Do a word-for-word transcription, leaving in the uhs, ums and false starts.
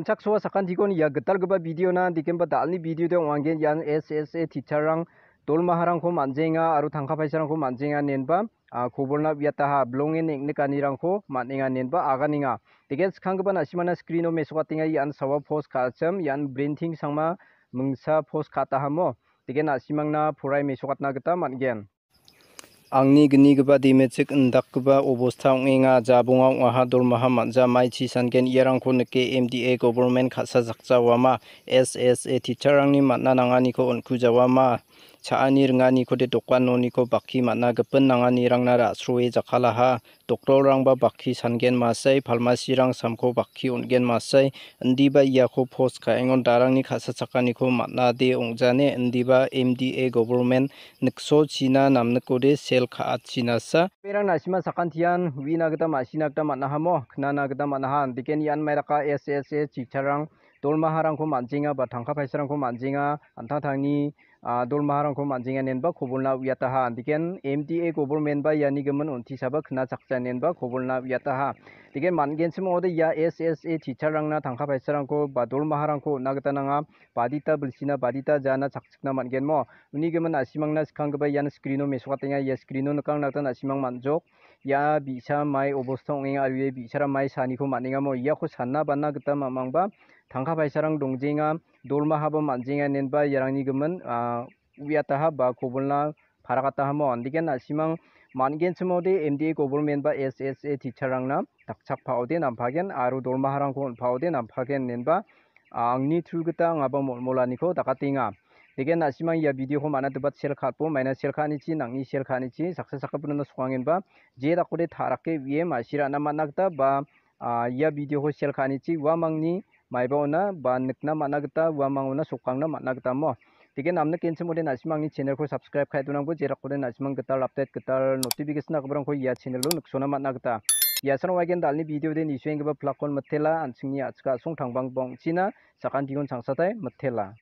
Chaksoa sakantikon ia gitalgipa videona, dikemba dalni videode ong·angen ian S S A teacherrang dolmaharangko man·jenga aro tangka paisarangko man·jenga inenba, ah, kobolna uiataha, bilongen neng·nikanirangko man·enga inenba aganenga. Deken skanggipa na·simana screeno mesokatenga ian sawa post ka·achim, ian Brinting Sangma mingsa post ka·atahamo. Deken na·simangna porai mesokatna gita man·gen. Angni gnigipa demechik indakgipa obosta ong·enga. Jabonga ong·aha, dolmaha man·ja, maichi sangen iarangko nike M D A government ka·sa jakjawama, S S A teacherrangni man·na nanganiko on·kujawama, cha·ani ringanikode dokan noniko bakki man·a, gipin nanganirangna ra·sroe jakkalaha, doktorrangba bakki sangen masai, pharmacyrang samko bakki on·gen masai, indiba iako post ka·engon darangni ka·sachakaniko man·ade ong·jane, indiba M D A government niksochina namnikode sel ka·achinasa. Berang na·sima sakantian uina gita ma·sina gita man·ahamo, knana gita man·aha. Dikeni ian mairaka S S A teacherrang dolmaharangko man·jenga ba tangka paisarangko man·jenga, an·tangtangni, ah, dolmaharangko man·jenga inenba kobolna uiataha. Diken M D A government ba iani gimin on·tisaba knachakja inenba kobolna uiataha. Diken man·genchim ong·ode ia S S A teacherrangna tangka paisarangko ba dolmaharangko on·na gita nanga. Badita bilsina, badita jana chakchikna man·genmo. Uni gimin na·simangna skanggipa ian screeno mesokatenga. Ia screeno nikangna gita na·simang man·jok. Ia bi·sa mai obosta ong·enga aro ia bi·sara mai saniko man·engamo. Iako sanna bana gita mamangba tangka paisarang dongjenga, dolmahaba man·jenga inenba iarangni gimin, ah, uiataha ba kobolna parakatahamo. Andiken na·simang man·genchimode M D A government ba S S A teacherrangna dakchakpaode nampagen aro dolmaharangko on·paode nampagen inenba, ah, angni through gita angaba molmolaniko dakatenga. Deken na·simang ia videoko man·a debat share ka·atbo, maina share ka·anichi, nang·ni share ka·anichi, saksa sakgipinona sokangenba, je dakode ta·rake uie ma·sirana man·a gita ba, ah, ia videoko share ka·anichi, uamangni maiba ona ba nikna man·a gita, uamang ona sokangna man·a gita mo. Deke namnikgenchim ode na·simangni channelko subscribe ka·e donangbo, jerakode na·simang gital update, gital notification-rangko ia channelo niksona man·a gita. Ia sano waigen dalni videode nisuenggipa plakon mitela, an·chingni a·chika a·song tangbangbong china, sakantikon changsatai mitela.